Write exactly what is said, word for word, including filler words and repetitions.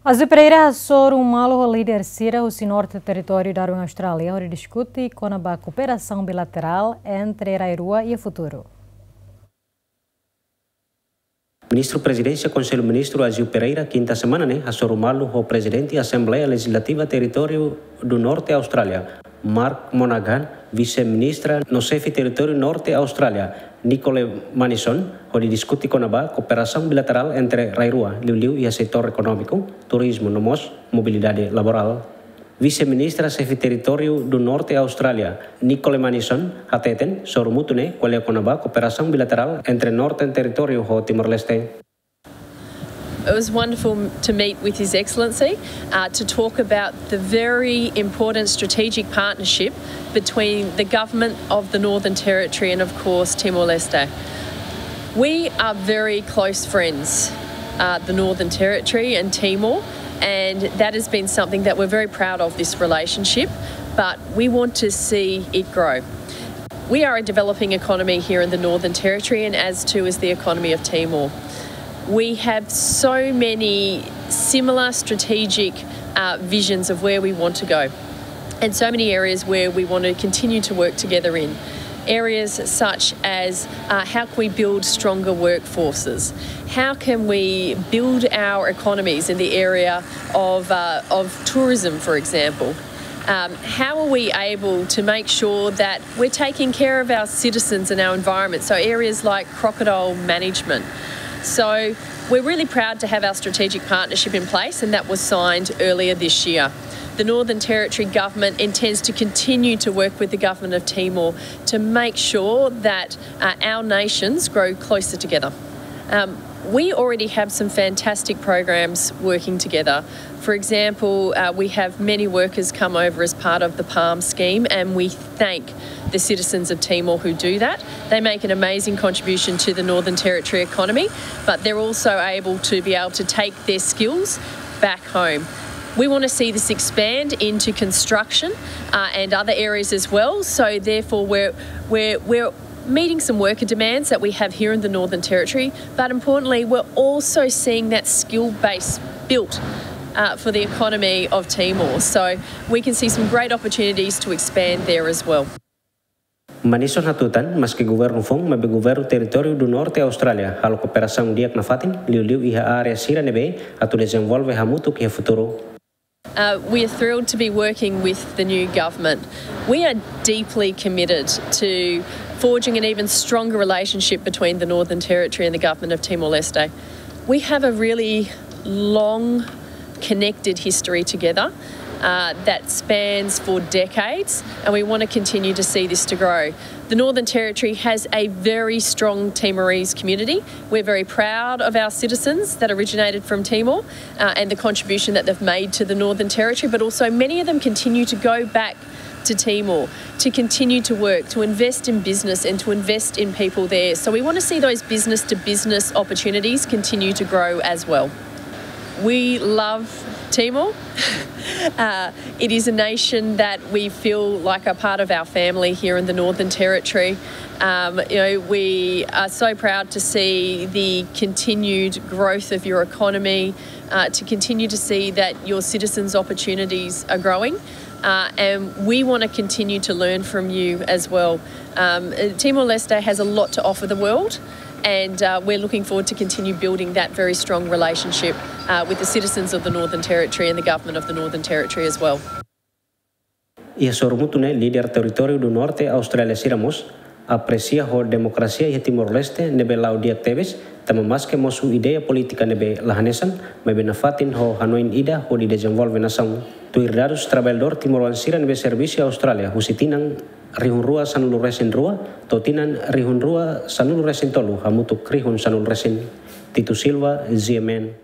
Azil Pereira hasoru malu ho líder sira husi Norte Territóriu Darwin, Austrália, hodi diskute kona-ba kooperasaun bilaterál entre rai rua iha futuru. Ministru Prezidénsia Konsellu Ministru Azil Pereira, kinta semana ne'e, hasoru malu ho Prezidente Asembleia Lejizlativa Territóriu du Norte Austrália, Mark Monaghan, Vise-Ministra no Xefe Territóriu Norte Austrália, Nicole Manisson, hodi diskute kona-ba kooperasaun bilaterál entre rai rua, liuliu iha setór ekonómiku, turizmu no mós mobilidade laborál. Vise-Ministra Xefe Territóriu du Norte Austrália, Nicole Manisson, hateten sorumutu ne'e ko'alia kona-ba kooperasaun bilaterál entre Norte Territóriu ho Timor-Leste. It was wonderful to meet with His Excellency, uh, to talk about the very important strategic partnership between the government of the Northern Territory and, of course, Timor-Leste. We are very close friends, uh, the Northern Territory and Timor, and that has been something that we're very proud of, this relationship, but we want to see it grow. We are a developing economy here in the Northern Territory, and as too is the economy of Timor. We have so many similar strategic, uh, visions of where we want to go, and so many areas where we want to continue to work together in. Areas such as, uh, how can we build stronger workforces? How can we build our economies in the area of, uh, of tourism, for example? Um, how are we able to make sure that we're taking care of our citizens and our environment? So areas like crocodile management. So we're really proud to have our strategic partnership in place, and that was signed earlier this year. The Northern Territory government intends to continue to work with the government of Timor to make sure that, uh, our nations grow closer together. Um, we already have some fantastic programs working together. For example, uh, we have many workers come over as part of the PALM scheme, and we thank the citizens of Timor who do that. They make an amazing contribution to the Northern Territory economy, but they're also able to be able to take their skills back home. We want to see this expand into construction, uh, and other areas as well. So therefore, we're, we're, we're meeting some worker demands that we have here in the Northern Territory, but importantly, we're also seeing that skill base built, uh, for the economy of Timor. So we can see some great opportunities to expand there as well. Manisson hatutan, maske governu foun, maibé governu Territóriu du Norte Austrália halo kooperasaun di'ak nafatin, liuliu iha área sira ne'ebé atu dezenvolve hamutuk iha futuru. Uh, we are thrilled to be working with the new government. We are deeply committed to forging an even stronger relationship between the Northern Territory and the government of Timor-Leste. We have a really long connected history together, uh, that spans for decades, and we want to continue to see this to grow. The Northern Territory has a very strong Timorese community. We're very proud of our citizens that originated from Timor, uh, and the contribution that they've made to the Northern Territory, but also many of them continue to go back to Timor to continue to work, to invest in business and to invest in people there. So we want to see those business-to-business opportunities continue to grow as well. We love Timor. Uh, it is a nation that we feel like a part of our family here in the Northern Territory. Um, you know, we are so proud to see the continued growth of your economy, uh, to continue to see that your citizens' opportunities are growing. Uh, and we want to continue to learn from you as well. Um, uh, Timor-Leste has a lot to offer the world, and, uh, we're looking forward to continue building that very strong relationship, uh, with the citizens of the Northern Territory and the government of the Northern Territory as well. Iha sorumutu ne'e, líder Territóriu du Norte Austrália sira mós apresia ho demokrasia iha Timor-Leste ne'ebé la'o di'ak tebes, tanba maske mosu ideia polítika ne'ebé la hanesan, maibé nafatin ho hanoin ida hodi dezenvolve nasaun. Tuir dadus, traballadór timoroan sira ne'ebé servisu iha Austrália husi tinan rihun rua sanulu resin rua to'o tinan rihun rua sanulu resin tolu hamutuk rihun sanulu resin. Tito Silva, G M N.